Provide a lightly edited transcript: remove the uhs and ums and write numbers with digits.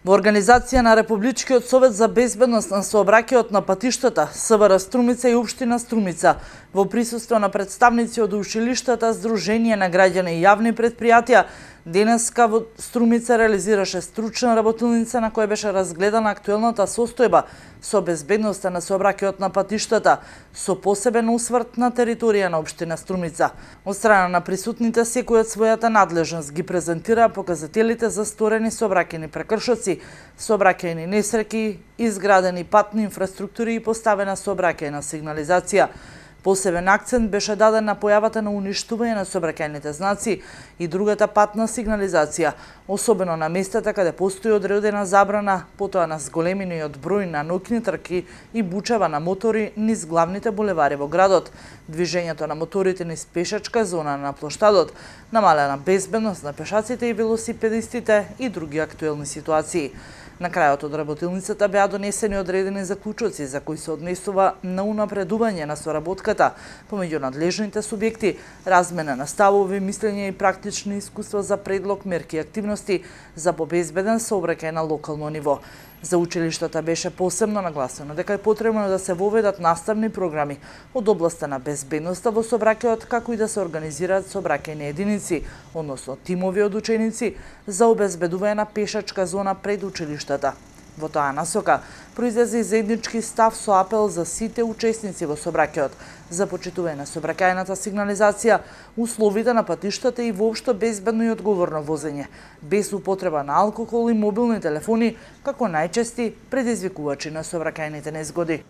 Во организација на Републичкиот совет за безбедност на сообраќајот на патиштата, СВР Струмица и Општина Струмица, во присуство на представници од училиштата, Сдружение на граѓани и јавни предпријатија, денеска во Струмица реализираше стручна работилница на која беше разгледана актуелната состојба со безбедноста на сообраќајот на патиштата, со посебен осврт на територија на Општина Струмица. Од страна на присутните, секој од својата надлежност ги презентира показателите за сторени сообраќајни прекршоци, сообраќајни несреќи, изградени патни инфраструктури и поставена сообраќајна сигнализација. Посебен акцент беше даден на појавата на уништување на сообраќајните знаци и другата патна сигнализација, особено на местата каде постои одредена забрана, потоа на зголемениот број на ноќни трки и бучава на мотори низ главните булевари во градот, движењето на моторите низ пешачка зона на плоштадот, намалена безбедност на пешаците и велосипедистите и други актуелни ситуации. На крајот од работилницата беа донесени одредени заклучоци за кои се однесува на унапредување на соработката помеѓу надлежните субјекти, размена на ставови, мислење и практични искуства за предлог, мерки и активности за побезбеден сообраќај на локално ниво. За училиштата беше посебно нагласено дека е потребно да се воведат наставни програми од областа на безбедноста во сообраќајот, како и да се организираат сообраќајни единици, односно тимови од ученици, за обезбедување на пешачка зона пред училиштата. Во таа насока произлезе заеднички став со апел за сите учесници во сообраќајот за почитување на сообраќајната сигнализација, условите на патиштата и воопшто безбедно и одговорно возење, без употреба на алкохол и мобилни телефони како најчести предизвикувачи на сообраќајните незгоди.